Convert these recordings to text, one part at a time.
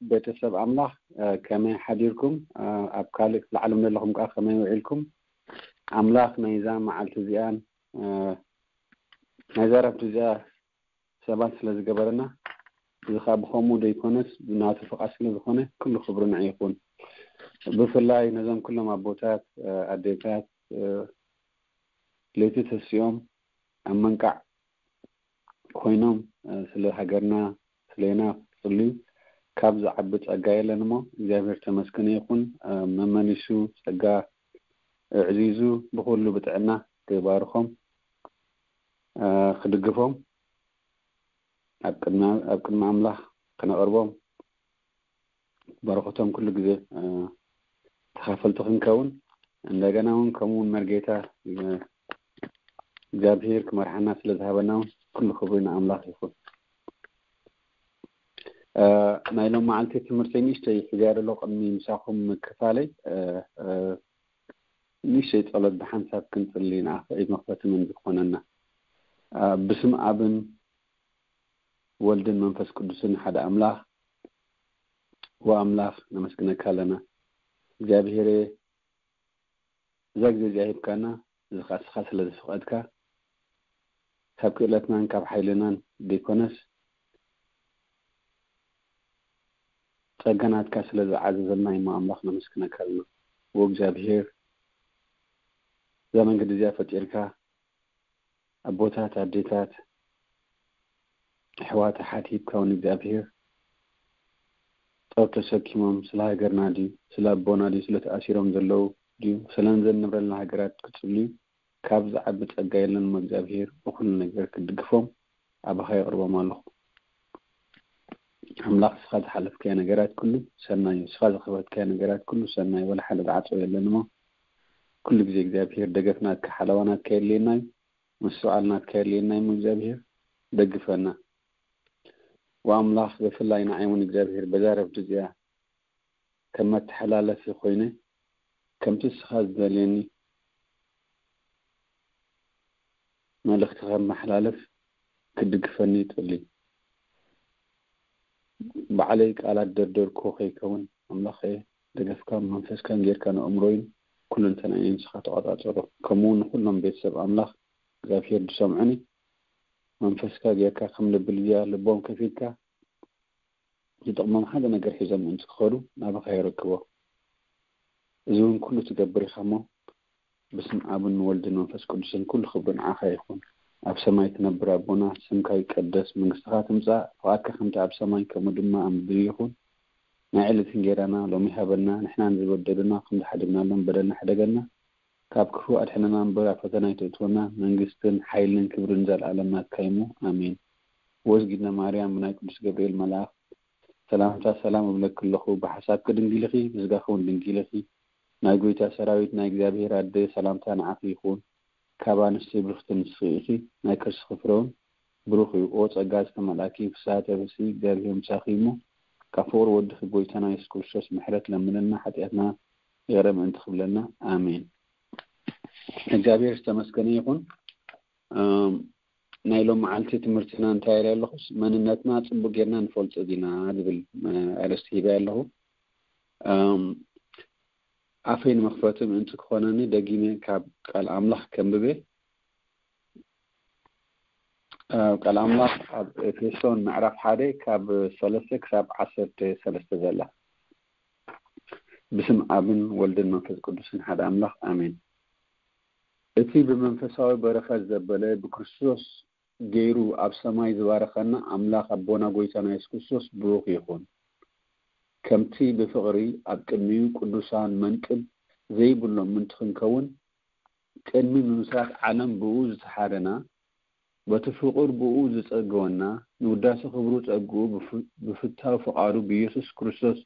ቤተሰብ ኣምላኽ፣ ከመይ ሓዲርኩም? ኣብ ካልእ ክፍለ ዓለም ዘለኹም ከኣ ከመይ ውዒልኩም? ኣምላኽ ናይዛ መዓልቲ እዚኣን ናይዛ ረፍቲ እዚኣ ሰባት ስለ ዝገበረና፣ እዚ ኸኣ ብኸምኡ ዘይኮነስ ብናቱ ፍቓድ ስለ ዝኾነ፣ ኩሉ ክብሪ ንዑ ይኹን። ብፍላይ ነዞም ኩሎም ኣቦታት፣ ኣዴታት፣ ለይቲ ተሲኦም ኣብ መንቃዕ ኮይኖም ስለ ሃገርና፣ ስለና ክጽልዩ ካብ ዝዓቢ ጸጋ የለን እሞ፣ እግዚኣብሔር ተመስገነ ይኹን። መመሊሱ ጸጋ ኣዕዚዙ ብኹሉ ብጥዕና ክባርኾም፣ ክድግፎም፣ ኣብ ቅድሚ፣ ኣብ ቅድሚ ኣምላኽ ክነቕርቦም፣ በረኸቶም ኩሉ ግዜ ተኻፈልቲ ክንከውን፣ እንደገና እውን ከምኡ እውን መርጌታ እግዚኣብሔር ክመርሓና ስለ ዝሃበና እውን ኩሉ ክብሪ ንኣምላኽ ይኹን። ናይ ሎም መዓልቲ ትምህርተይ ንእሽተይ ሒዘያ ዘሎ ቅድሚ ምሳኹም ምክፋለይ፣ ንእሽተይ ጸሎት ብሓንሳብ ክንጽሊ ንኣኽዒብ መኽፈቲ መንዚ ክኾነና። ብስም ኣብን ወልድን መንፈስ ቅዱስን ሓደ ኣምላኽ፣ ወኣምላኽ ነመስግነካ ኣለና። እግዚኣብሔረ፣ እዛ ግዜ እዚኣ ሂብካና፣ እዚ ኸኣ ንስኻ ስለ ዝፈቐድካ፣ ካብ ክእለትናን ካብ ሓይልናን ዘይኮነስ፣ ጸጋ ናትካ ስለ ዝዓዘዘልና እሞ ኣምላኽ ነመስግነካ ኣለና። ወእግዚኣብሔር፣ እዛ መንገዲ እዚኣ ፈጢርካ፣ ኣቦታት፣ ኣዴታት፣ ኣሕዋት፣ ኣሓት ሂብካ እውን እግዚኣብሔር ጾር ተሰኪሞም ስለ ሃገርና ድዩ፣ ስለ ኣቦና ድዩ፣ ስለ ተኣሲሮም ዘለዉ ድዩ፣ ስለ ንዘንብረልና ሃገራት ክጽልዩ ካብ ዝዓቢ ጸጋ የለን እሞ እግዚኣብሔር ብኹሉ ነገር ክትድግፎም ኣባኻ የቕርቦም ኣለኹ። ኣምላኽ ንስኻ ዝሓለፍካዮ ነገራት ኩሉ ሰናይ እዩ። ንስኻ ዝኸፈትካዮ ነገራት ኩሉ ሰናይ እዩ። ወላ ሓደ ዝዓጸወ የለን እሞ ኩሉ ግዜ እግዚኣብሔር ደገፍ ናትካ ሓለዋ ናትካ የድልየና እዩ። ምስትውዓል ናትካ የድልየና እዩ እሞ እግዚኣብሔር ደግፈና። ወኣምላኽ ብፍላይ ንዓይ እውን እግዚኣብሔር በዛ ረፍዲ እዚኣ ከም መተሓላለፊ ኮይነ ከምቲ ንስኻ ዝደልየኒ መልእኽቲ ከመሓላልፍ ክትድግፈኒ ይጽሊ። ባዕለይ ቃላት ደርደርኩ ከይከውን ኣምላኸ ደገፍካን መንፈስካን ጌርካ ንኣእምሮይን ኩለንተናይን ንስኻ ተቖጻጸሮ። ከምኡ እውን ንኹሎም ቤተሰብ ኣምላኽ እግዚኣብሔር ዝሰምዑኒ መንፈስካ ጌርካ ከም ልቢ ልድያ ልቦም ከፊትካ ዝጠቕሞም ሓደ ነገር ሒዞም ምእንቲ ክኸዱ ናባኻ የረክቦ። እዚ እውን ኩሉ ትገብር ኢኻ እሞ ብስም ኣብን ወልድን መንፈስ ቅዱስን ኩሉ ክብሪ ንዓኻ ይኹን። ኣብ ሰማይ ትነብር ኣቦና፣ ስምካ ይቀደስ፣ መንግስትኻ ትምጻእ፣ ፍቓድካ ከምቲ ኣብ ሰማይ ከምኡ ድማ ኣብ ምድሪ ይኹን። ናይ ዕለት እንጌራና ሎሚ ሃበና፣ ንሕና ንዝበደሉና ከም ዝሓደግናሎም በደልና ሕደገና፣ ካብ ክፉእ ኣድሕነና እምበር ኣብ ፈተና ኣይተእትወና፣ መንግስትን ሓይልን ክብርን ንዘለኣለም ናትካ እዩ እሞ፣ ኣሜን። ወዝጊድና ማርያም ብናይ ቅዱስ ገብርኤል መልኣኽ ሰላምታ ሰላም እብለኪ ኣለኹ፣ ብሓሳብኪ ድንግል ኢኺ፣ ብስጋኺ እውን ድንግል ኢኺ። ናይ ጐይታ ሰራዊት ናይ እግዚኣብሔር ኣደ ሰላምታ ንዓኺ ይኹን። ካብ ኣንስቲ ብርኽቲ ንስኺ ኢኺ፣ ናይ ከርስኺ ፍረ እውን ብሩኽ እዩ። ኦ ጸጋ ዝተመልኣኪ ፍስሓ ተበስሒ፣ እግዚኣብሔር ምሳኺ እዩ እሞ፣ ካብ ፍቕሪ ወድኺ ጐይታና የሱስ ክርስቶስ ምሕረት ለምንልና፣ ሓጢኣትና ይቕረ ምእንቲ ክብለና። ኣሜን። እግዚኣብሔር ዝተመስገነ ይኹን። እም፣ ናይ ሎም መዓልቲ ትምህርትና እንታይ ኢለ ኣለኹስ፣ መንነትና ጽቡቕ ጌርና ንፈልጦ ዲና ዝብል፣ እ፣ ኣርእስቲ ሂበ ኣለኹ። እም፣ ኣፈይ ንመኽፈቲ ምእንቲ ክኾነኒ ደጊመ ካብ ቃል ኣምላኽ ከንብበ። እ፣ ቃል ኣምላኽ ኣብ ኤፌሶን ምዕራፍ ሓደ ካብ ሰለስተ ክሳብ ዓሰርተ ሰለስተ ዘላ። ብስም ኣብን ወልድን መንፈስ ቅዱስን ሓደ ኣምላኽ ኣሜን። እቲ ብመንፈሳዊ በረኸት ዘበለ ብክርስቶስ ገይሩ ኣብ ሰማይ ዝባረኸና ኣምላኽ ኣቦና ጐይታና የሱስ ክርስቶስ ብሩኽ ይኹን። ከምቲ ብፍቕሪ ኣብ ቅድሚኡ ቅዱሳን መንቅብ ዘይብሎም ምእንቲ ክንከውን ቅድሚ ምምስራት ዓለም ብኡ ዝተሓረና፣ በቲ ፍቑር ብኡ ዝጸገወና፣ ንውዳሴ ክብሩ ጸግኡ ብፍ-፣ ብፍታው ፍቓዱ ብኢየሱስ ክርስቶስ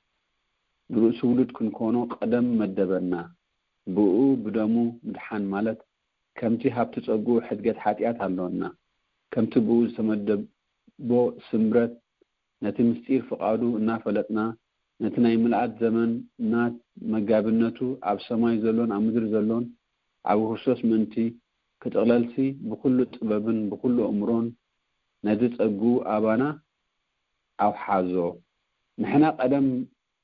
ብርእሱ ውሉድ ክንኮኖ ቀደም መደበና። ብኡ ብደሙ ምድሓን ማለት ከምቲ ሃብቲ ጸግኡ ሕድገት ሓጢኣት ኣለወና። ከምቲ ብኡ ዝተመደቦ ስምረት ነቲ ምስጢር ፍቓዱ እናፈለጥና፣ ነቲ ናይ ምልኣት ዘመናት መጋቢነቱ ኣብ ሰማይ ዘሎን ኣብ ምድሪ ዘሎን ኣብ ክርስቶስ ምእንቲ ክጥቕለልሲ ብኹሉ ጥበብን ብኹሉ ኣእምሮን ነቲ ጸግኡ ኣባና ኣውሓዞ። ንሕና ቀደም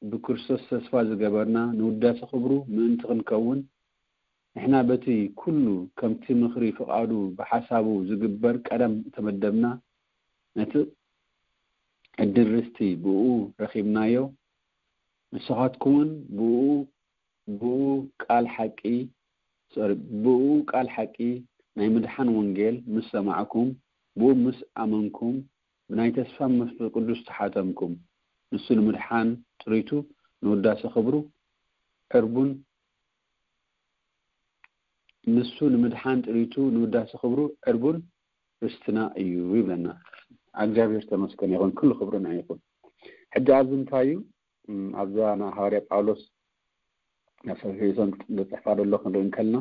ብክርስቶስ ተስፋ ዝገበርና ንውዳሴ ክብሩ ምእንቲ ክንከውን፣ ንሕና በቲ ኩሉ ከምቲ ምኽሪ ፍቓዱ ብሓሳቡ ዝግበር ቀደም እተመደብና፣ ነቲ ዕድል ርስቲ ብኡ ረኺብናዮ። ንስኻትኩምን ብኡ፣ ብኡ ቃል ሓቂ፣ ሶሪ፣ ብኡ ቃል ሓቂ ናይ ምድሓን ወንጌል ምስ ሰማዕኩም፣ ብኡ ምስ ኣመንኩም፣ ብናይ ተስፋ መንፈስ ቅዱስ ተሓተምኩም። ንሱ ንምድሓን ጥሪቱ ንውዳሴ ክብሩ ዕርቡን፣ ንሱ ንምድሓን ጥሪቱ ንውዳሴ ክብሩ ዕርቡን ርስትና እዩ ይብለና። እግዚኣብሔር ተመስገን ይኹን፣ ኩሉ ክብሪ ንዓይ ይኹን። ሕጂ ኣብዚ እንታይ እዩ? እም፣ ኣብዛ ናይ ሃዋርያ ጳውሎስ ናብ ሰፊሶን ዝጽሕፋ ዘሎ ክንርኢ እንከልና፣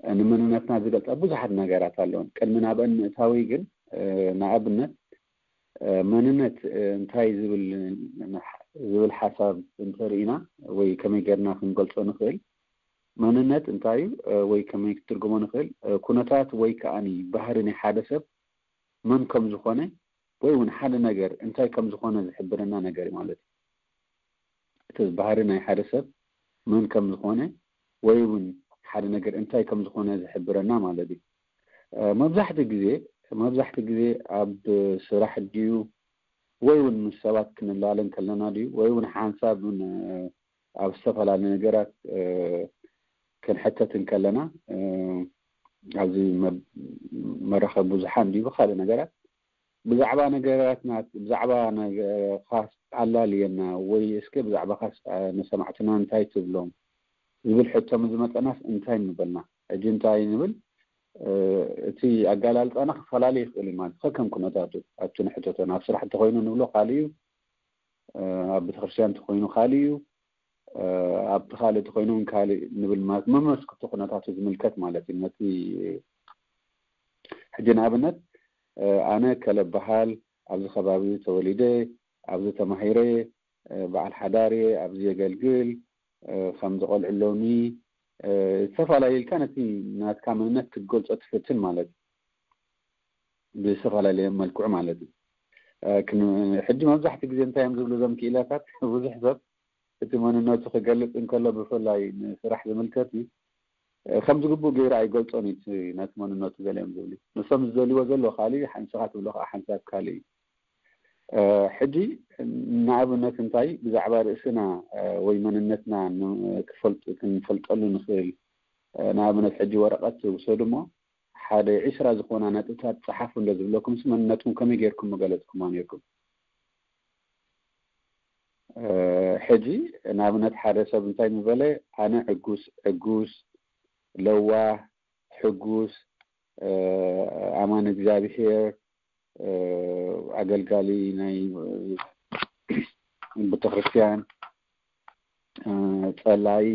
እ፣ ንመንነትና ዝገልጻ ብዙሓት ነገራት ኣለውን። ቅድሚ ናብአን ምእታዊ ግን፣ እ፣ ንኣብነት፣ እ፣ መንነት፣ እ፣ እንታይ ዝብል፣ ዝብል ሓሳብ እንተርኢና ወይ ከመይ ጌርና ክንገልጾ ንኽእል፣ መንነት እንታይ እዩ፣ እ፣ ወይ ከመይ ክትርጉሞ ንኽእል? እ፣ ኩነታት ወይ ከኣኒ ባህሪ ናይ ሓደ ሰብ መን ከም ዝኾነ ወይ እውን ሓደ ነገር እንታይ ከም ዝኾነ ዝሕብረና ነገር እዩ ማለት እዩ። እቲ ባህሪ ናይ ሓደ ሰብ መን ከም ዝኾነ ወይ እውን ሓደ ነገር እንታይ ከም ዝኾነ ዝሕብረና ማለት እዩ። እ፣ መብዛሕትኡ ግዜ፣ መብዛሕትኡ ግዜ ኣብ ስራሕ ድዩ ወይ እውን ምስ ሰባት ክንላለ እንከለና ድዩ ወይ እውን ሓንሳብ እውን፣ እ፣ ኣብ ዝተፈላለዩ ነገራት፣ እ፣ ክንሕተት እንከለና፣ እ፣ ኣብዚ መ-፣ መራኸቢ ብዙሓን ድዩ ብኻልእ ነገራት ብዛዕባ ነገራትና፣ ብዛዕባ ነገ-፣ ካስ ኣላልየና ወይ እስከ ብዛዕባ ካስ፣ እ፣ ንሰማዕትና እንታይ ትብሎም ዝብል ሕቶ ምስ ዝመጸናስ እንታይ ምበልና? ሕጂ እንታይ ንብል? እ፣ እቲ ኣገላልጻና ክፈላለ ይኽእል እዩ ማለት ከከም ኩነታቱ። ኣብቲ ንሕተቶ ናብ ስራሕ እንተኾይኑ ንብሎ ካልእ እዩ፣ እ፣ ኣብ ቤተክርስትያን እንተኾይኑ ካልእ እዩ፣ እ፣ ኣብቲ ካልእ እንተኾይኑ እውን ካልእ ንብል ማለት መመስክቲ ኩነታቱ ዝምልከት ማለት እዩ። ነቲ ሕጂ ንኣብነት፣ እ፣ ኣነ ከለ በሃል ኣብዚ ከባቢ ተወሊደ፣ ኣብዚ ተማሂረ፣ እ፣ በዓል ሓዳር እየ፣ ኣብዚ የገልግል፣ እ፣ ከምዚ ቆልዑ ኣለውኒ፣ እ፣ ዝተፈላለዩ ኢልካ ነቲ ናትካ መንነት ክትገልጾ ትፍትን ማለት እዩ። ብዝተፈላለየ መልክዑ ማለት እዩ። እ፣ ክን-፣ ሕጂ መብዛሕትኡ ግዜ እንታይ እዮም ዝብሉ እዞም ክኢላታት? ብዙሕ ሰብ እቲ መንነቱ ክገልጽ እንከሎ ብፍላይ ንስራሕ ዝምልከት እዩ። እ፣ ከም ዝግብኡ ገይሩ ኣይገልጾን እዩ እቲ ነቲ መንነቱ ገለ እዮም ዝብሉ። ንሶም ዝደልይዎ ዘሎ ካልእ፣ ሓንሳኻ ትብሎ ከዓ ሓንሳብ ካልእ እዩ። እ፣ ሕጂ ንኣብነት እንታይ ብዛዕባ ርእስና፣ እ፣ ወይ መንነትና ን-፣ ክፈልጥ-፣ ክንፈልጠሉ ንኽእል? እ፣ ንኣብነት ሕጂ ወረቐት ውሰዱ እሞ ሓደ ዒስራ ዝኾና ነጥብታት ጸሓፉ እንደ ዝብለኩም፣ ሲ መንነትኩም ከመይ ጌርኩም ምገለጽኩሞ ኔርኩም? እ፣ ሕጂ ንኣብነት ሓደ ሰብ እንታይ ምበለ፣ ኣነ ዕጉስ፣ ዕጉስ፣ ለዋህ፣ ሕጉስ፣ እ፣ ኣማን እግዚኣብሔር፣ እ፣ ኣገልጋሊ ናይ ቤተክርስትያን፣ እ፣ ጸላይ፣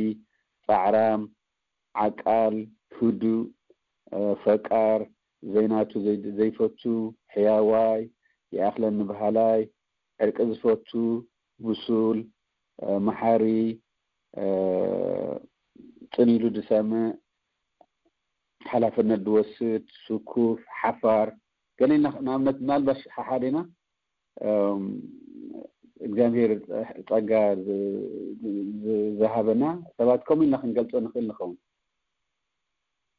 ጻዕራም፣ ዓቃል፣ ህዱእ፣ እ፣ ፈቃር፣ ዘይናቱ ዘይ-፣ ዘይፈቱ፣ ሕያዋይ፣ ይኣኽለኒ በሃላይ፣ ዕርቂ ዝፈቱ፣ ብሱል፣ እ፣ መሓሪ፣ እ፣ ጽን ኢሉ ዝሰምዕ፣ ሓላፍነት ዝወስድ፣ ስኩፍ፣ ሓፋር፣ ገለ ኢልና ንኣብነት ምናልባሽ ሓሓደ ኢና፣ እም፣ እግዚኣብሔር ጸጋ ዝ-፣ ዝ-፣ ዝሃበና ሰባት ከምኡ ኢልና ክንገልጾ ንኽእል ንኸውን።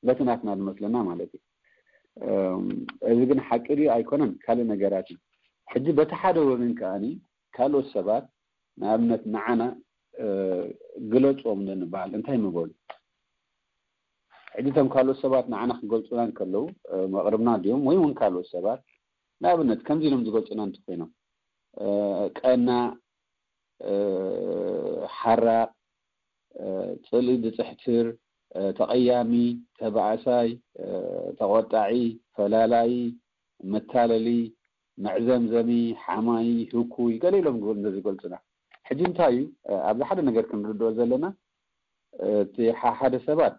በቲ ናትና ዝመስለና ማለት እዩ። እም፣ እዚ ግን ሓቂ ድዩ ኣይኮነን? ካልእ ነገራት እዩ። ሕጂ በቲ ሓደ ወገን ከኣኒ ካልኦት ሰባት ንኣብነት ንዓና፣ እ፣ ግለጾም እንድንበሃል እንታይ ምበሉ? ሕጂ እቶም ካልኦት ሰባት ንዓና ክገልጹና እንከለዉ፣ እ፣ መቕርብና ድዮም ወይ እውን ካልኦት ሰባት ንኣብነት ከምዚ ኢሎም ዝገልጹና እንተኾይኖም፣ እ፣ ቀናእ፣ እ፣ ሓራቕ፣ እ፣ ጽልኢ ዝጽሕትር፣ ተቐያሚ፣ ተባእሳይ፣ ተቖጣዒ፣ ፈላላዪ፣ መታለሊ፣ መዕዘምዘሚ፣ ሓማዪ፣ ህኩይ፣ ገለ ኢሎም ዝገልፁና። ሕጂ እንታይ እዩ ኣብዚ ሓደ ነገር ክንርድኦ ዘለና? እቲ ሓደ ሰባት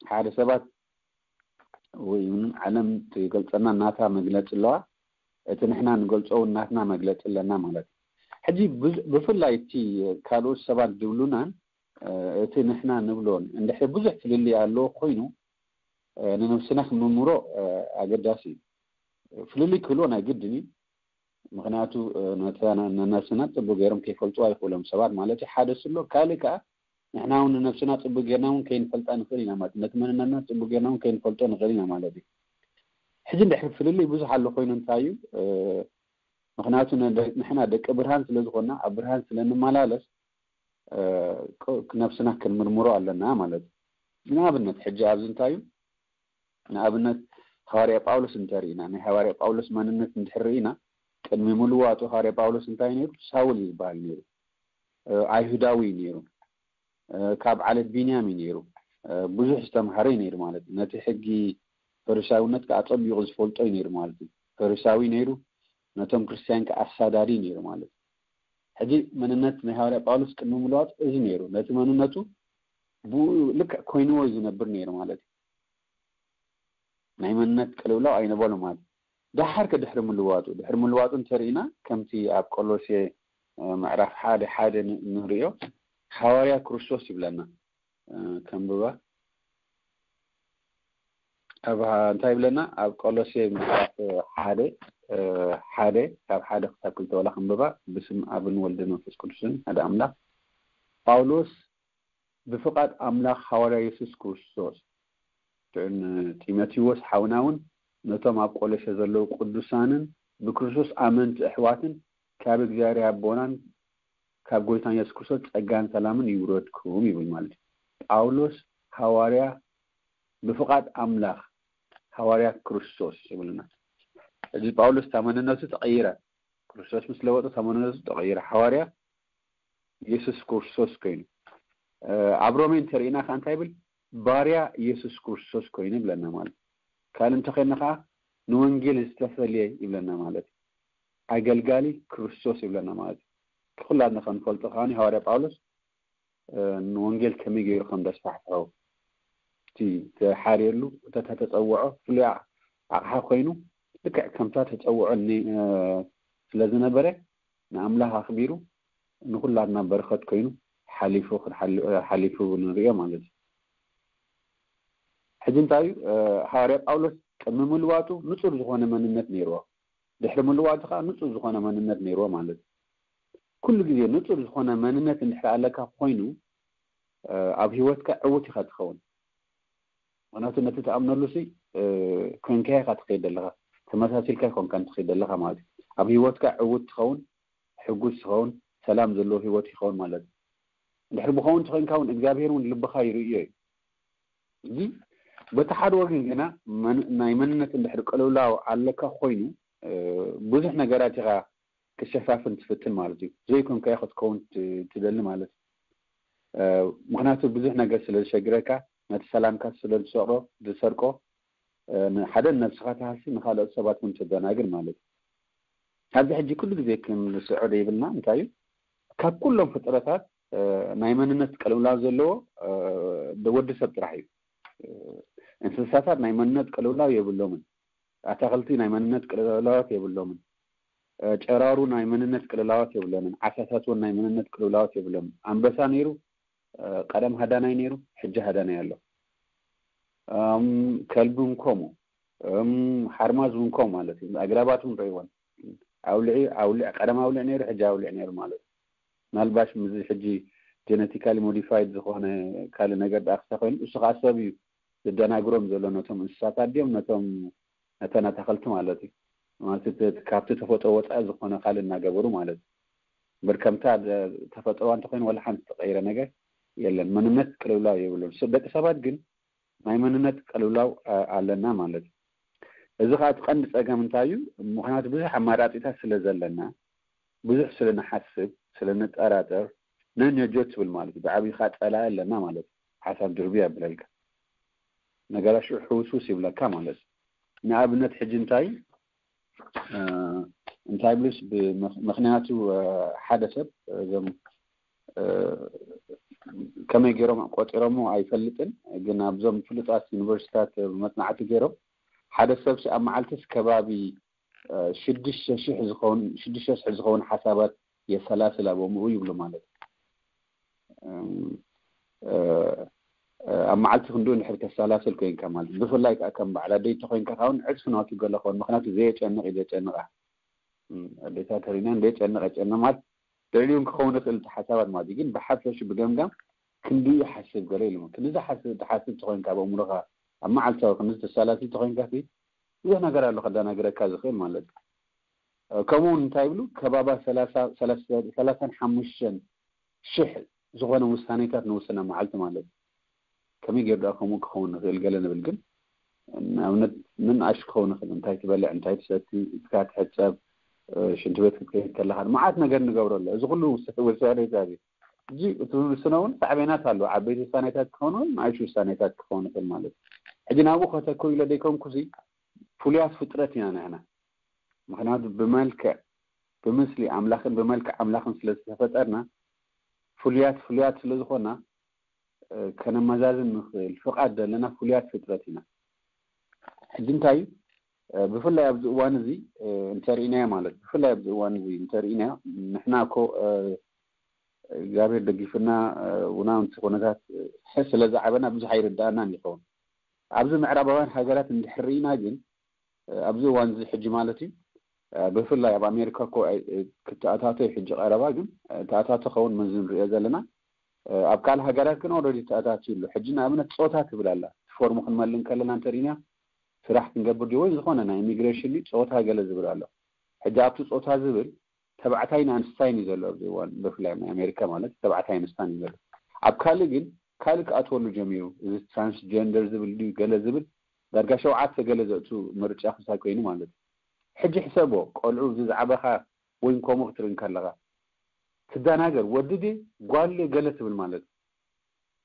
ሓደ ሰባት ወይ እውን ዓለም ትገልፀና ናታ መግለፂ ኣለዋ። እቲ ንሕና ንገልፆ እውን ናትና መግለፂ ኣለና ማለት እዩ። ሕጂ ብፍላይ እቲ ካልኦት ሰባት ዝብሉናን እቲ ንሕና ንብሎን እንድሕር ብዙሕ ፍልልይ ኣለዎ ኮይኑ ንነብስና ክንምርምሮ ኣገዳሲ እዩ። ፍልልይ ክህልዎ ናይ ግድን እዩ። ምክንያቱ ነነብስና ፅቡቅ ገይሮም ከይፈልጡ ኣይክእሎም ሰባት ማለት እዩ። ሓደ ስሎ ካልእ ከዓ ንሕና እውን ንነብስና ፅቡቅ ጌርና እውን ከይንፈልጣ ንኽእል ኢና ማለት ነቲ መንነትና ፅቡቅ ጌርና እውን ከይንፈልጦ ንኽእል ኢና ማለት እዩ። ሕጂ እንድሕር ፍልልይ ብዙሕ ኣሎ ኮይኑ እንታይ እዩ? ምክንያቱ ንሕና ደቂ ብርሃን ስለዝኮና ኣብ ብርሃን ስለንመላለስ ነብስና ክንምርምሮ ኣለና ማለት እዩ። ንኣብነት ሕጂ ኣብዚ እንታይ እዩ? ንኣብነት ሃዋርያ ጳውሎስ እንተርኢና ናይ ሃዋርያ ጳውሎስ መንነት እንድሕር ርኢና ቅድሚ ምልዋጡ ሃዋርያ ጳውሎስ እንታይ ነይሩ? ሳውል ዝበሃል ነይሩ። ኣይሁዳዊ ነይሩ። ካብ ዓለት ቢንያም እዩ ነይሩ። ብዙሕ ዝተምሃረ እዩ ነይሩ ማለት እዩ። ነቲ ሕጊ ፈሪሳዊነት ከዓ ኣፀቢቑ ዝፈልጦ እዩ ነይሩ ማለት እዩ። ፈሪሳዊ ነይሩ፣ ነቶም ክርስትያን ከዓ ኣሳዳዲ ነይሩ ማለት እዩ። ሕጂ መንነት ናይ ሃዋርያ ጳውሎስ ቅድሚ ምልዋጡ እዚ ነይሩ። ነቲ መንነቱ ብኡ ልክዕ ኮይንዎ እዩ ዝነብር ነይሩ ማለት እዩ። ናይ መንነት ቅልውላው ኣይነበሎ ማለት እዩ። ደሓር ከድሕሪ ምልዋጡ ድሕሪ ምልዋጡ እንተርኢና ከምቲ ኣብ ቆሎሴ ምዕራፍ ሓደ ሓደ ንሪኦ ሃዋርያ ክርስቶስ ይብለና። ከንብባ ኣብ እንታይ ይብለና? ኣብ ቆሎሴ ምዕራፍ ሓደ ሓደ ካብ ሓደ ክሳብ ክልተ ዋላ ከንብባ። ብስም ኣብን ወልድን መንፈስ ቅዱስን ሓደ ኣምላኽ። ጳውሎስ ብፍቓድ ኣምላኽ ሃዋርያ የሱስ ክርስቶስ፣ ጢሞቴዎስ ሓውና እውን ነቶም ኣብ ቆሎሴ ዘለዉ ቅዱሳንን ብክርስቶስ ኣመንቲ ኣሕዋትን ካብ እግዚኣብሔር ኣቦናን ካብ ጎይታን የሱስ ክርስቶስ ጸጋን ሰላምን ይውረድኩም ይብል ማለት እዩ። ጳውሎስ ሃዋርያ ብፍቓድ ኣምላኽ ሃዋርያ ክርስቶስ ይብልና። እዚ ጳውሎስ እታ መንነቱ ተቐይራ፣ ክርስቶስ ምስ ለወጠ እታ መንነቱ ተቐይራ፣ ሃዋርያ የሱስ ክርስቶስ ኮይኑ። ኣብ ሮሜ እንተርኢና ከዓ እንታይ ይብል? ባርያ የሱስ ክርስቶስ ኮይኑ ይብለና ማለት። ካልእ እንተኾይና ከዓ ንወንጌል ዝተፈልየ ይብለና ማለት። ኣገልጋሊ ክርስቶስ ይብለና ማለት። ኩላትና ከንፈልጦ ከዓ ሃዋርያ ጳውሎስ ንወንጌል ከመይ ገይሩ ከም ዘስፋሕፍሖ እቲ ተሓርየሉ እተተፀውዖ ፍሉይ ኣቕሓ ኮይኑ ልክዕ ከምታ ተፀውዖ ስለ ዝነበረ ንኣምላኽ ኣኽቢሩ ንኹላትና በረኸት ኮይኑ ሓሊፉ ሓሊፉ ንሪኦ ማለት እዩ። ሕጂ እንታይ እዩ? ሃዋርያ ጳውሎስ ቅድሚ ምልዋጡ ንጹር ዝኾነ መንነት ነይርዎ፣ ድሕሪ ምልዋጡ ከዓ ንጹር ዝኾነ መንነት ነይርዎ ማለት እዩ። ኩሉ ግዜ ንጹር ዝኾነ መንነት እንድሕር ኣለካ ኮይኑ ኣብ ህይወትካ ዕዉት ኢኻ ትኸውን። ምክንያቱ ነቲ ትኣምነሉ ሲ ኮይንካ ኢኻ ትኸይድ ዘለኻ፣ ተመሳሲልካ ይኮንካ ትኸይድ ዘለኻ ማለት እዩ። ኣብ ህይወትካ ዕዉት ትኸውን፣ ሕጉስ ትኸውን፣ ሰላም ዘለዎ ህይወት ይኸውን ማለት እዩ። እንድሕር ብኸውን ትኾይንካ እውን እግዚኣብሔር እውን ልብኻ ይርእዮ እዩ። እዚ በቲ ሓደ ወገን ግና ናይ መንነት እንድሕር ቅልውላው ኣለካ ኮይኑ ብዙሕ ነገራት ኢኻ ክሸፋፍን ትፍትን ማለት እዩ። ዘይኮንካዮ ክትከውን ትደሊ ማለት እዩ። ምክንያቱ ብዙሕ ነገር ስለ ዝሸግረካ ነቲ ሰላምካ ስለ ዝሰርቆ ዝሰርቆ ሓደ ነብስኻ ትሃሲ ንካልኦት ሰባት እውን ተደናግር ማለት እዩ። ኣብዚ ሕጂ ኩሉ ግዜ ክንርስዖ ዘይብልና እንታይ እዩ? ካብ ኩሎም ፍጥረታት ናይ መንነት ቅልውላው ዘለዎ ወዲ ሰብ ጥራሕ እዩ። እንስሳታት ናይ መንነት ቅልውላው የብሎምን። ኣታክልቲ ናይ መንነት ቅልውላዋት የብሎምን። ጨራሩ ናይ መንነት ቅልውላዋት የብሎምን። ዓሳታት እውን ናይ መንነት ቅልውላዋት የብሎምን። ኣንበሳ ነይሩ፣ ቀደም ሃዳናይ ነይሩ፣ ሕጂ ሃዳናይ ኣሎ። ከልቢ እውን ከምኡ፣ ሓርማዝ እውን ከምኡ ማለት እዩ። ኣግራባት እውን ርእይወን። ኣውሊዕ ኣውሊዕ ቀደም ኣውሊዕ ነይሩ፣ ሕጂ ኣውሊዕ ነይሩ ማለት እዩ። ምናልባሽ ምዚ ሕጂ ጀነቲካሊ ሞዲፋይድ ዝኾነ ካልእ ነገር ደኣ ክሳ ኮይኑ እሱ ከዓ ሰብ እዩ ዝደናግሮም ዘሎ ነቶም እንስሳታት ድዮም ነቶም ነተን ኣታኸልቲ ማለት እዩ። ማለት እቲ ካብቲ ተፈጥሮ ወፃኢ ዝኾነ ካልእ እናገበሩ ማለት እዩ። ብርከምታ ተፈጥሮዋ እንተኮይኑ ዋላ ሓንቲ ተቀይረ ነገር የለን። መንነት ቅልውላው የብሉን። ደቂ ሰባት ግን ናይ መንነት ቅልውላው ኣለና ማለት እዩ። እዚ ከዓ እቲ ቀንዲ ፀገም እንታይ እዩ? ምክንያቱ ብዙሕ ኣማራፂታት ስለ ዘለና ብዙሕ ስለ ንሓስብ ስለ ንጠራጠር ነንዮጆ ትብል ማለት እዩ። ብዓብዩ ከዓ ፀላኢ ኣለና ማለት እዩ። ሓሳብ ድርቢ ያብለልካ። ነገራት ሽዑ ሕውስውስ ይብለካ ማለት እዩ። ንኣብነት ሕጂ እንታይ እንታይ ብሉስ ምክንያቱ ሓደ ሰብ እዞም ከመይ ገይሮም ቆፂሮሞ ኣይፈልጥን፣ ግን ኣብዞም ፍሉጣት ዩኒቨርሲታት መፅናዕቲ ገይሮም ሓደ ሰብ ኣብ መዓልትስ ከባቢ ሽዱሽተ ሽሕ ዝኸውን ሓሳባት የሰላስል ኣብ ኣእምኡ ይብሉ ማለት እዩ። ኣብ መዓልቲ ክንዱ እንድሕር ተሰላስል ኮይንካ ማለት፣ ብፍላይ ከዓ ከም በዓል ኣደይ ተኮይንካ ካውን ዕፅፊ ናቱ ገለ ክኸውን፣ ምክንያቱ ዘየጨንቕ እዩ ዘጨንቓ። ኣዴታት ተሪና ዘየጨንቕ የጨንቕ ማለት ልዕሊውን ክኸውን ይኽእል እቲ ሓሳባት ማለት እዩ። ግን ብሓፈሽ ብገምጋም ክንድኡ ይሓስብ ገለ ኢሉ ክንዲ ዝሓስብ ትሓስብ ተኮይንካ ኣብ ኣእምሮኻ ኣብ መዓልታዊ ክንዲ ተሰላስል ተኮይንካ ብዙሕ ነገር ኣሎ ከዳናግረካ ዝኽእል ማለት እዩ። ከምኡ እንታይ ይብሉ ከባባ ሰላሳን ሓሙሽተን ሽሕ ዝኾነ ውሳኔታት ንውስና መዓልቲ ማለት እዩ። ከመይ ገይሩ ደኣ ከምኡ ክኸውን ንኽእል ገለ ንብል ግን ንኣብነት ንንኣሽ ክኸውን ይኽእል። እንታይ ትበልዕ፣ እንታይ ትሰቲ፣ ኢድካ ትሕጸብ፣ ሽንቲ ቤት ክትከይድ ከለኻ መዓት ነገር ንገብረሉ። እዚ ኩሉ ውሳኔታት እዩ። እዚ እቲ ውስነ እውን ሳዕቤናት ኣለዎ። ዓበይቲ ውሳኔታት ክኸውን ንኣሽ ውሳኔታት ክኸውን ይኽእል ማለት እዩ። ሕጂ ናብኡ ከተኩር ኢለ ደይኮንኩሲ ፍሉያት ፍጥረት ኢና ንሕና። ምክንያቱ ብመልክዕ ብምስሊ ኣምላኽን ብመልክዕ ኣምላኽን ስለ ዝተፈጠርና ፍሉያት ፍሉያት ስለ ዝኾና ከነመዛዝን ንኽእል ፍቓድ ዘለና ፍሉያት ፍጥረት ኢና። ሕጂ እንታይ እዩ ብፍላይ ኣብዚ እዋን እዚ እንተርኢናዮ ማለት ብፍላይ ኣብዚ እዋን እዚ እንተርኢናዮ ንሕና እኮ እግዚኣብሔር ደጊፍና ውናውንቲ ኩነታት ስለ ዝዓበና ብዙሕ ኣይርዳእናን ይኸውን። ኣብዚ ምዕራባውያን ሃገራት እንድሕር ርኢና ግን ኣብዚ እዋን እዚ ሕጂ ማለት እዩ ብፍላይ ኣብ ኣሜሪካ እኮ ክትኣታቶ እዩ ሕጂ ቀረባ ግን ተኣታቶ ከውን መዚ ንሪኦ ዘለና ኣብ ካልእ ሃገራት ግን ኦረዲ ተኣታትዩ ኣሎ። ሕጂ ንኣብነት ፆታ ትብል ኣላ። እቲ ፎርም ክንመልእ እንከለና እንተሪና ስራሕ ክንገብር ድዩ ወይ ዝኾነ ናይ ኢሚግሬሽን ድዩ ፆታ ገለ ዝብል ኣሎ። ሕጂ ኣብቲ ፆታ ዝብል ተባዕታይን ኣንስታይን እዩ ዘሎ ኣብዚ እዋን ብፍላይ ናይ ኣሜሪካ ማለት ተባዕታይ ኣንስታይን እዩ ዘሎ። ኣብ ካልእ ግን ካልእ ክኣትወሉ ጀሚሩ። እዚ ትራንስጀንደር ዝብል ድዩ ገለ ዝብል ዳርጋ ሸውዓተ ገለ ዘእቱ ምርጫ ክሳይ ኮይኑ ማለት እዩ። ሕጂ ሕሰቦ ቆልዑ እዚ ዝዓበኻ ወይ ከምኡ ክትርኢ እንከለኻ ትደናገር ወዲ ድየ ጓል ድየ ገለ ትብል ማለት እዩ።